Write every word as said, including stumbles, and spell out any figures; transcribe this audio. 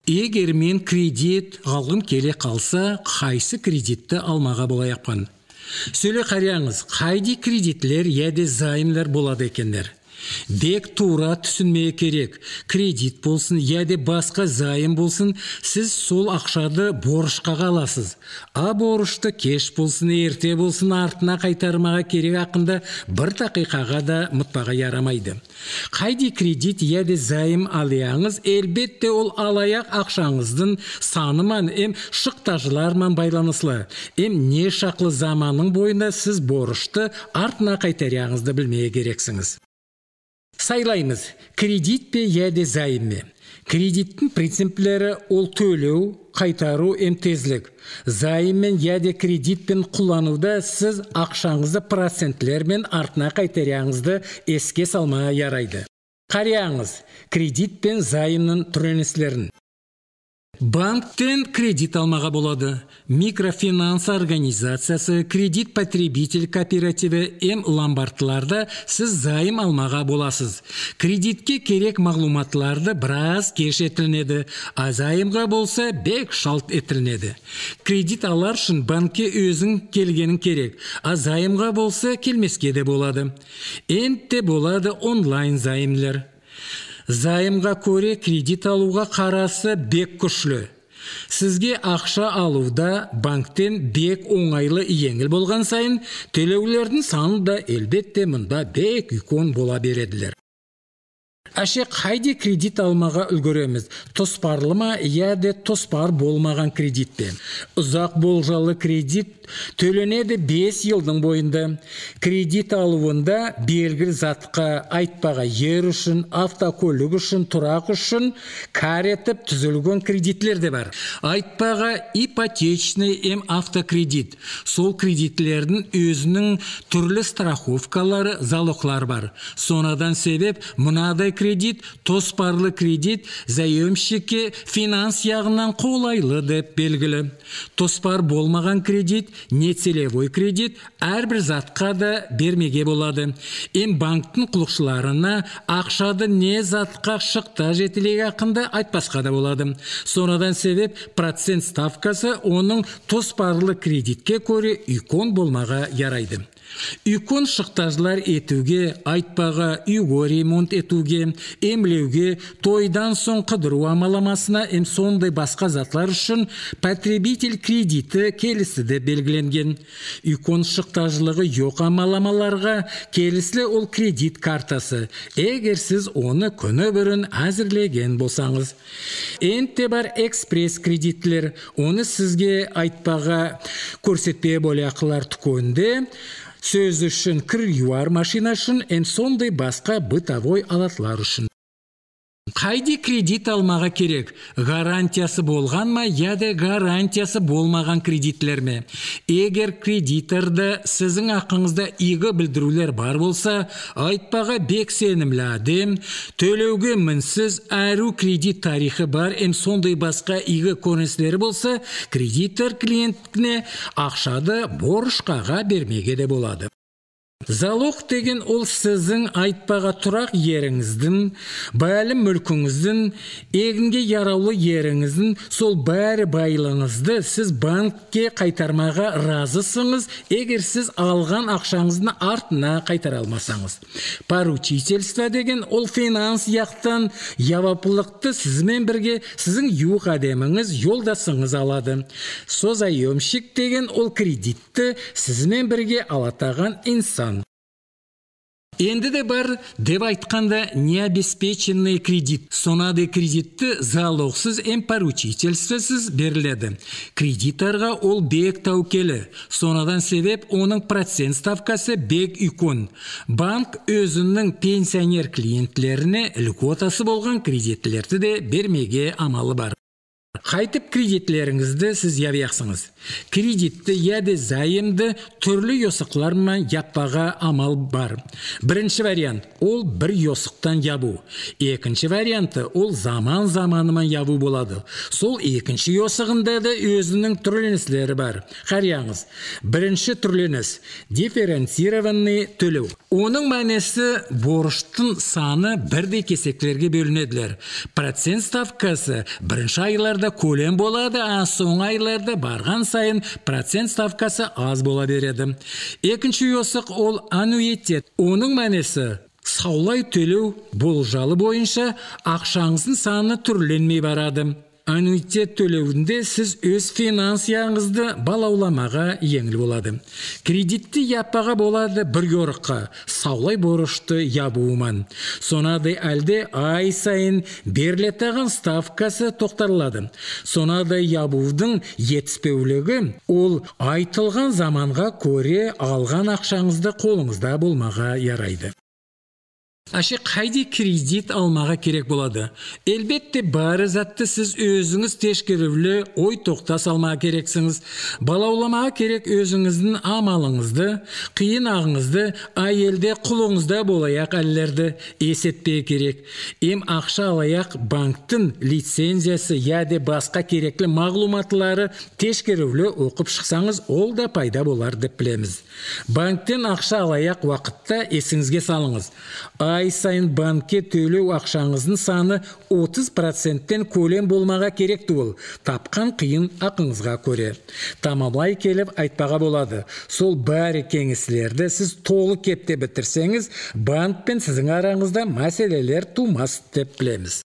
Егер мен кредит алғым келе қалса, қайсы кредитті алмаға болайапқан? Сөйле қараңыз, қайди кредитлер яде займлар болады екендер. Бек тура түсінмей керек. Кредит болсын, яде басқа зайым болсын, сіз сол ақшады борышқа қаласыз. А борышты кеш болсын, ерте болсын, артына қайтармаға керек ақында бір дақиқаға да мұтпаға ярамайды. Қайди кредит яде зайым алияңыз, әлбетте ол алаяқ ақшаңыздың саныман, эм шықтажыларман байланыслы. Эм не шақлы заманның бойында сіз борышты артына қайтарияңызды білмей керексіңіз. Сайлаймыз, кредит пе яде зайым ме? Кредиттің принциплері ол төлеу, қайтару эм тезлік. Зайым мен яде кредитпен құлануда сіз ақшаңызды процентлермен артына қайтарияңызды еске салмая ярайды. Қарияңыз, кредит пен зайымның түренеслерін. Банктен кредит алмаға болады. Микрофинанс организациясы, кредит потребитель кооперативі эм ломбардтыларда сіз зайым алмаға боласыз. Кредитке керек мағлуматларды біраз кеш етілінеді, а зайымға болса бек шалт етілінеді. Кредит алар үшін банкке өзің келгенің керек, а зайымға болса келмеске де болады. Энтте болады онлайн зайымлар. Зайымға көре кредит алуға қарасы бек күшлі. Сізге ақша алуда банктен бек оңайлы еңіл болған сайын, төлеулердің саны да әлбетте мұнда бек үлкен бола береділер. Әше қайде кредит алмаға үлгіреміз? Тоспарлы ма, яде тоспар болмаған кредит пе? Ұзақ болжалы кредит төленеді бес жылдың бойында. Кредит алуында белгілі затқа, айтпаға ер үшін, автокөлік үшін, тұрақ үшін кар етіп түзілген кредитлер де бар. Айтпаға ипотечный эм автокредит. Сол кредитлердің өзінің түрлі страховкалары, залоглар бар. Сонадан себеп мұнадай кредит, тоспарлы кредит заемщикке финанс яғынан қолайлы деп белгілі. Тоспар болмаған кредит, нецелевой кредит әрбір затқа да бермеге болады. Эм банктың құлықшыларына ақшады не затқа шықта жетілеге ақында айтпасқа да болады. Сонадан себеп процент ставкасы оның тоспарлы кредитке көре үлкен болмаға ярайды. Үлкен шықтажылар етуге, айтпаға, үйге ремонт етуге, емлеуге, тойдан соң қыдыру амаламасына, эм сондай басқа затлар үшін потребитель кредиті келісі де белгіленген. Үлкен шықтажылығы жоқ амаламаларға келісілі ол кредит картасы, егер сіз оны күні бірін әзірлеген болсаңыз. Энтте бар экспресс кредитлер, оны сізге айтпаға көрсетпе болақылар түкөнде, сөз үшін кір юар машина үшін, эм сондай басқа бытовой алатлар үшін. Қайди кредит алмаға керек? Гарантиясы болған ма, яде гарантиясы болмаған кредитлер ме? Егер кредиторда сізің ақыңызда игі білдірулер бар болса, айтпаға бек сенімлі адем, төлеуге мінсіз әру кредит тарихы бар, эм сондай басқа игі көріністері болса, кредитор клиентіне ақшады борышқаға бермеге де болады. Залог деген ол сіздің айтпаға тұрақ еріңіздің, бәлім мүлкіңіздің, егінге яраулы еріңіздің, сол бәрі байлыңызды сіз банкке қайтармаға разысыңыз, егер сіз алған ақшаңыздың артына қайтара алмасаңыз. Поручительство деген ол финанс яқтан яваплықты сізмен бірге сіздің юқ адеміңіз, жолдасыңыз алады. Созаемщик деген ол кредитті сізмен бірге алатаған инсан. Енді де бар деп айтқанда необеспеченный кредит. Сонады кредитті залогсыз эм поручительствосыз беріледі. Кредиторға ол бек тәукелі. Сонадан себеп оның процент ставкасы бек үлкен. Банк өзінің пенсионер клиентлеріне льготасы болған кредитлерді де бермеге амалы бар. Қайтып кредитлеріңізді сіз ябияқсыңыз. Кредитті яде зайымды түрлі йосықлармен яппаға амал бар. Бірінші вариант – ол бір йосықтан ябу. Екінші варианты – ол заман-заманымен ябу болады. Сол екінші йосығында да өзінің түрленіслері бар. Қарияңыз, бірінші түрленіс – дифференцированный төлеу. Оның мәнесі борыштың саны бірдей кесеклерге бөлінеділер. Процент ставкасы бірінші айларда көлем болады, а соң айларда барған сайын процент ставкасы аз бола береді. Екінші йосық ол аннуитет. Оның мәнесі саулай төлеу болжалы бойынша ақшаңыздың саны түрленмей барады. Аннуитет төлеуінде сіз өз финансияңызды балауламаға еңіл болады. Кредитті яппаға болады бір йорыққа, саулай борышты ябуыман. Сонадай әлде ай сайын берлеттаған ставкасы тоқтарылады. Сонадай ябудың етіспеулігі ол айтылған заманға көре алған ақшаңызды қолыңызда болмаға ярайды. Ашы қайди кредит алмаға керек болады? Әлбетте бары затты сіз өзіңіз тешкерівлі ой тоқта салмаға керексіңіз. Балауламаға керек өзіңіздің амалыңызды, қиын ағыңызды, айелде құлыңызда болаяқ әлілерді есетпей керек. Ем ақша алаяқ банктың лицензиясы яде басқа кереклі мағлуматлары тешкерівлі оқып шықсаңыз, ол да пайда болар деп білеміз. Банктен ақша алаяқ уақытта есіңізге салыңыз. Ай сайын банкке төлеу ақшаңыздың саны отыз проценттен көлем болмаға керек туыл. Тапқан қиын ақыңызға көре. Тамамлай келіп айтпаға болады. Сол бәрі кеңеслерді сіз толы кепте бітірсеңіз, банк пен сіздің араңызда мәселелер тумас деп білеміз.